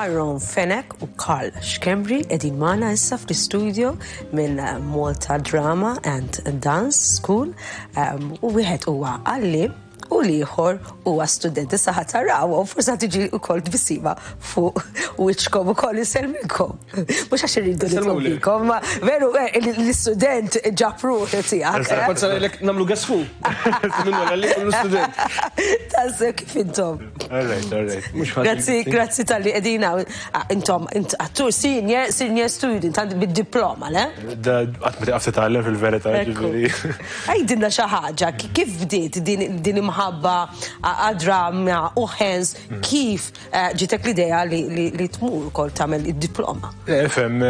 Aaron Fenech u Karl Schembri qegħdin magħna issa fl-istudio minn Malta Drama and Dance School u wieħed huwa għalliem u l-ieħor huwa student. Issa ħa taraw u forsi tiġi wkoll tbissima fuq wiċċkom ukoll insellmilkom. Mhux għax irridu nitolbikom, ma veru eh, l-istudent ġab ruħi tiegħek. Eh? Kont ngħidlek nagħmlu guess who. Minnu l-għalli u l-student. Tassew kif intom. All right, all right. Grazzi, grazzi tal-li qegħdin ah, intom attur senior, senior student għand bid-diploma, le? Da qatt ma tiqaf titgħallem fil-verità, ġifieri. Għidilna xi ħaġa, kif bdiet din imħabba għad-drama u hens kif eh, ġitek l-idea li tmur ukoll tagħmel id-diploma? Ifhem,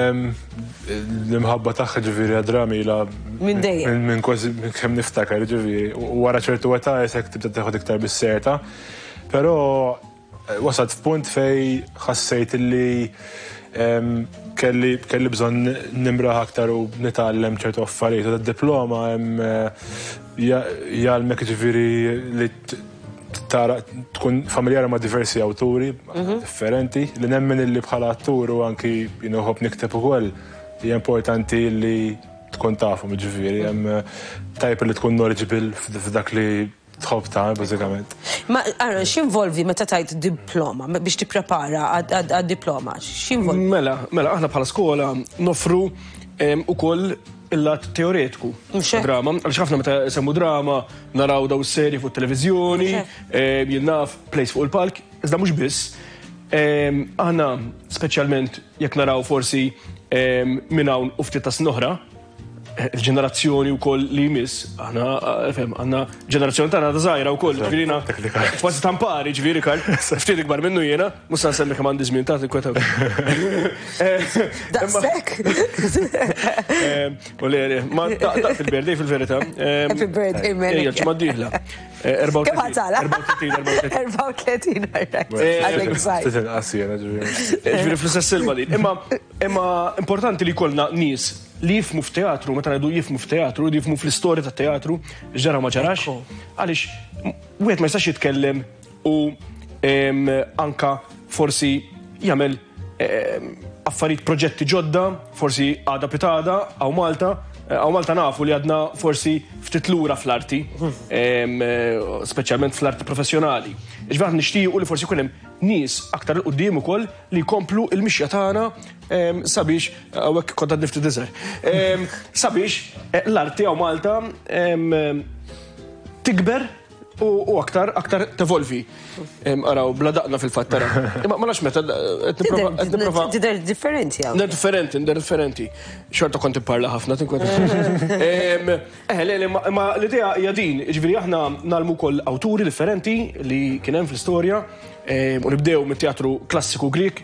l-imħabba tagħha ġifieri għad-drama ilha minn dejjem. Minn kważi kemm niftakar ġifieri. U wara ċertu età isek tibda teħod iktar bis-serta. Però Wasalt f'punt fejn ħassejt li kelli kelli bżonn nimraħ aktar u nitgħallem ċertu affarijiet. U diploma jgħallmek ġifieri li tara tkun familjari ma' diversi awturi mhm. differenti li nemmen illi bħala attur u anki jien nħobb nikteb ukoll hija importanti li tkun tafhom ġifieri hemm tajb li tkun knowledgeable f'dak li Tħobb tagħmel bażikament. Ma ara x'involvi meta tajt diploma biex tipprepara għad-diploma? X'involvi? Mela, mela aħna bħala skola nofru ukoll il-lat teoretiku. Drama, għaliex ħafna meta semmu drama naraw daw seri fuq televiżjoni, jien naf plays fuq il-palk, iżda mhux biss. Aħna speċjalment jekk naraw forsi minn hawn u ftit ta' snin oħra, il-ġenerazzjoni wkoll li jmiss, aħna fem, għandna ġenerazzjoni tagħna ta' żgħira wkoll, ġifieri kważi tampari, ġifieri Karl, ftit ikbar minnu jiena, mhux se nsemmi kemm għandi żmien ta' tinkweta. Daqshekk. U le, ma ta' fil-birthday fil-verità. Happy birthday, man. Ejja, ġimgħa d-dieħla. 34. Kemm għatala? 34, 34. Għadek żgħir. Ftit inqas jiena ġifieri. Ġifieri fl-istess silma din. Imma importanti li jkollna nies li jifhmu f'teatru, meta ngħidu jifhmu f'teatru, jifhmu fl-istorja tat-teatru, x'ġara ma ġarax, għaliex wieħed ma jistax jitkellem u anka forsi jagħmel affarijiet proġetti ġodda, forsi għada pitada, hawn Malta, hawn Malta nafu li għadna forsi ftit lura fl-arti, speċjalment fl-arti professjonali. Ġifieri aħna nixtiequ li forsi jkun hemm nies aktar 'il quddiem ukoll li jkomplu l-mixja tagħna sabiex hawnhekk kont għadni ftit iżgħar. Sabiex eh, l-arti hawn Malta tikber u aktar aktar tevolvi. Araw, bla daqna fil-fatt tara. Imma ma nafx meta qed nipprova. Tidher differenti hawn. Tidher differenti, tidher differenti. Xorta kont ipparla ħafna tinkweta. Eh, le, le, ma l-idea hija din, ġifieri aħna nagħlmu wkoll awturi differenti li kien hemm fl-istorja u nibdew mit-teatru klassiku Grieg,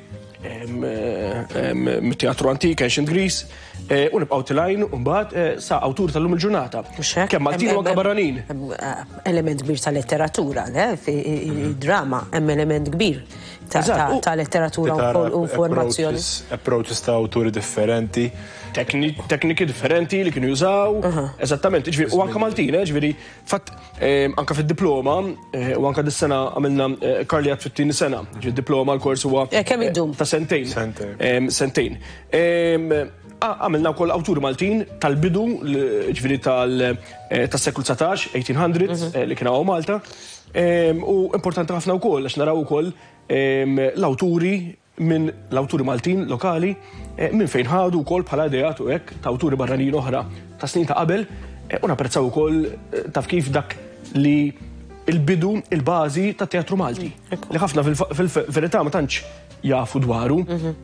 mit-teatru antik, Ancient Greece, eh, u nibqgħu tilajn mbagħad eh, sa awtur tal-lum il-ġurnata. Kemm Maltin u anke barranin. Eh, element kbir ta' letteratura, le? Drama, hemm element kbir ta' letteratura u informazzjoni. Approaches ta' awturi differenti. Tekniki differenti li kienu jużaw. Eżattament, ġifieri, u anke Maltin, ġifieri, fatt anke fid-diploma, eh, u anke dis-sena għamilna eh, Karli għad fit-tieni sena, ġi diploma l-kors huwa eh, kemm idum? Ta' sentejn. Sentejn. Għamilna wkoll awturi Maltin tal-bidu, ġifieri tas-seklu 19, 1800s, mhm. li kien hawn Malta. U importanti ħafna wkoll għax naraw ukoll l-awturi minn l-awturi Maltin lokali minn fejn ħadu wkoll bħala ideat u hekk ta' awturi barranin oħra ta' snin ta' qabel u napprezzaw ukoll taf kif dak li il-bidu, il-bażi tat-teatru Malti. Li ħafna fil-verità ma tantx jafu dwaru, mhm.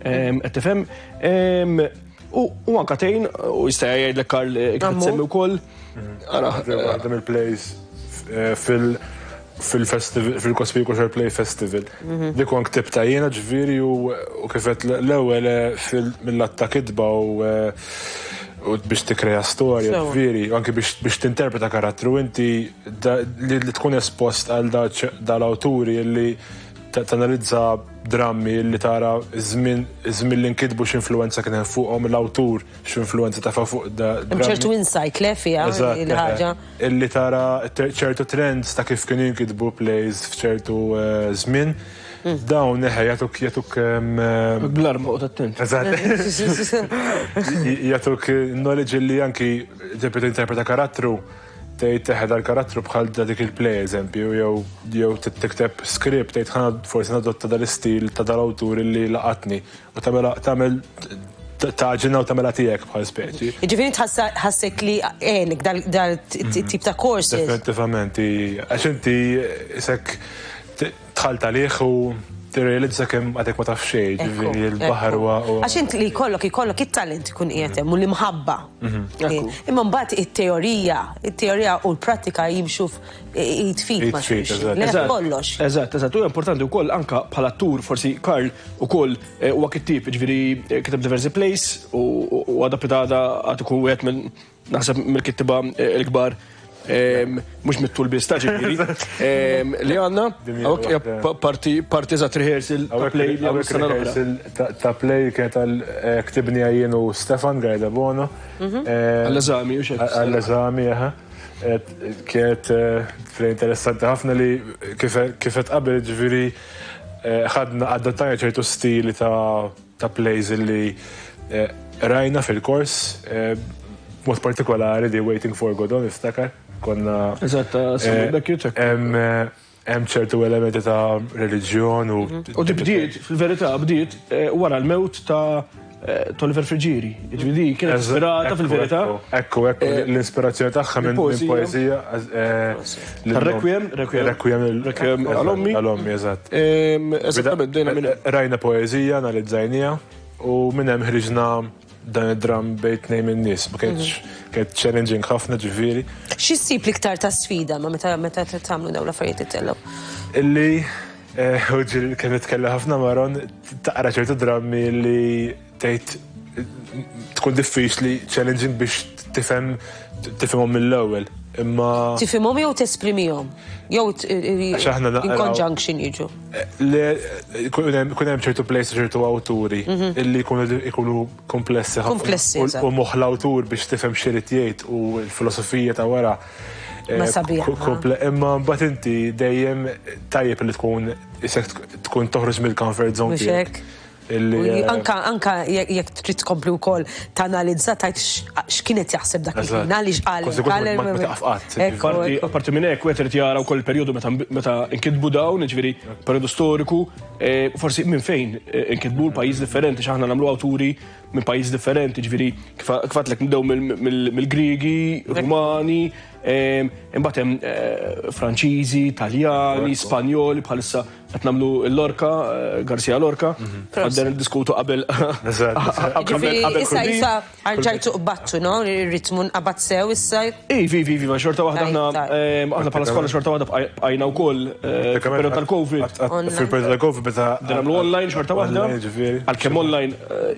qed tifhem. U anka tgħin, u jista' jgħidlek Karl kif semmi wkoll. Ara, waħda mill-plays eh, fil- fil-festival, fil-Cospicuo Fair Play Festival. Mhm. Dik kont ktibta jiena ġifieri u kifet l-ewwel eh, mill-att ta' kitba eh, u biex tikkrea storja, ġifieri, anki biex tinterpreta karattru inti li tkun espost għal dal-awturi li tanalizza drammi li tara żmien li nkitbu x'influwenza kien hemm fuqhom l-awtur x'influwenza tefa' fuq da. Hemm ċertu insight le fiha il-ħaġa. Illi tara ċertu trends ta' kif kienu jinkitbu plays f'ċertu żmien. Dawn eħe jagħtuk jagħtuk Bl-arma oqgħod attent. Eżatt. Jagħtuk knowledge li anki eżempju tinterpreta karattru tgħid eħe dal-karattru bħal da dik il-play eżempju jew jew tikteb script tgħid ħa forsi nadotta dal-istil ta' dal-awtur li laqatni u tagħmel tagħmel tagħġinha u tagħmilha tiegħek bħal speċi. Jiġifieri tħassek li għenek dal-tip ta' courses. Definitivament, għax inti isek dħalt għalih u tirrealizza kemm għadek ma taf xejn, ġifieri l-baħar huwa. Għax int li jkollok jkollok it-talent ikun qiegħed hemm u l-imħabba. Imma mbagħad it-teorija, it-teorija u l-prattika jimxu id f'id ma' xulxin. Le kollox. Eżatt, eżatt. U importanti wkoll anka bħala attur forsi Karl ukoll huwa kittieb, ġifieri kiteb diversi plays u għada pitgħada għad ikun wieħed minn naħseb mill-kittiba l-kbar mhux mit-tul biss ta' ġifieri li għandna. Parti parti eżatt rehearsal ta' play li għamlu sena l-oħra. Ta' play kienet għal ktibni jien u Stefan Gajda Bono. Għall-eżami u xek. Għall-eżami, aha. Kienet play interessanti ħafna li kif qed qabel ġifieri ħadna adattajna ċertu stili ta' plays li rajna fil-kors, mod partikolari di Waiting for Godot niftakar. Konna. Eżatt, Samuel Beckett. Hemm ċertu elementi ta' reliġjon u. U di bdiet, fil-verità, bdiet wara l-mewt ta' Oliver Friggieri. Ġifieri kienet ispirata fil-verità. Ekku, ekku, l-ispirazzjoni tagħha minn poeżija. Requiem, Requiem. Requiem. Requiem għal-ommi. Għal-ommi, eżatt. Eżattament, bdejna minn. Rajna poeżija, analizzajnieha u minn hemm ħriġna dan id-dram bejn tnejn min-nies. Ma kienx kienet challenging ħafna ġifieri. Xi ssib l-iktar ta' sfida ma meta meta tagħmlu dawn l-affarijiet ittellgħu? Illi u ġieli kien nitkellem ħafna Maron taqra ċertu drammi li tgħid tkun diffiċli challenging biex tifhem tifhimhom mill-ewwel. Imma Tifhimhom jew tesprimihom? Jew Għax aħna in conjunction jiġu. Le kun hemm ċertu plays ċertu awturi illi jkunu komplessi ħafna. Komplessi, U moħħ l-awtur biex tifhem x'irid jgħid u l-filosofija ta' wara. Ma sabiħ. Imma mbagħad inti dejjem tajjeb li tkun isek tkun toħroġ mill-comfort zone tiegħek. Anka anka jekk trid tkompli wkoll tanalizza tajt x'kienet jaħseb dak il-ħin għaliex qal. Apparti minn hekk wieħed irid jara wkoll il-perjodu meta nkitbu dawn, jiġifieri perjodu storiku, forsi minn fejn inkitbu l-pajjiż differenti x'aħna nagħmlu awturi minn pajjiż differenti, ġifieri kif għedtlek nibdew mill-Griegi, Rumani, imbagħad hemm Franċiżi, Taljani, Spanjoli bħalissa qed nagħmlu l-Lorca, Garcia Lorca, għadden niddiskutu qabel. Ġifieri issa issa rġajtu qbattu, no? Ir-ritmu nqabad sew issa. Ivi, ivi, ivi, ma xorta waħda aħna aħna bħala skola xorta waħda bqajna wkoll fil-perjodu tal-Covid. Fil-perjodu tal-Covid meta nagħmlu online xorta waħda. Għalkemm online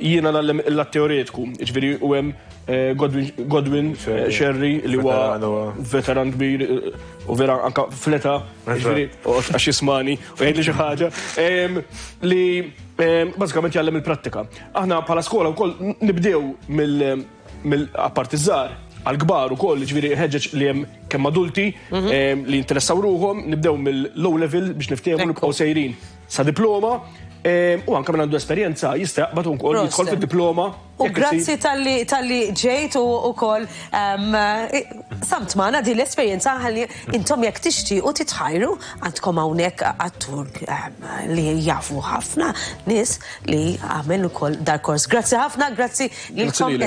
jiena ngħallem il-lat teoretiku, ġifieri u hemm Godwin Sherry li huwa veteran kbir u vera anka fleta, ġifieri għax jismani u jgħidli xi ħaġa li bażikament jgħallem il-prattika. Aħna bħala skola wkoll nibdew mill apparti żgħar għal-kbar ukoll, ġifieri ħeġġeġ li hemm kemm adulti li jinteressaw ruħhom, nibdew mill-low level biex niftehmu nibqgħu sejrin sa diploma u anke minn għandu esperjenza jista' jaqbad ukoll jidħol fid-diploma. U grazzi talli ġejt u ukoll qsamt magħna din l-esperjenza ħalli intom jekk tixtiequ titħajru għandkom hawnhekk attur li jafu ħafna nies li għamel ukoll dal-kors. Grazzi ħafna, grazzi lilkom.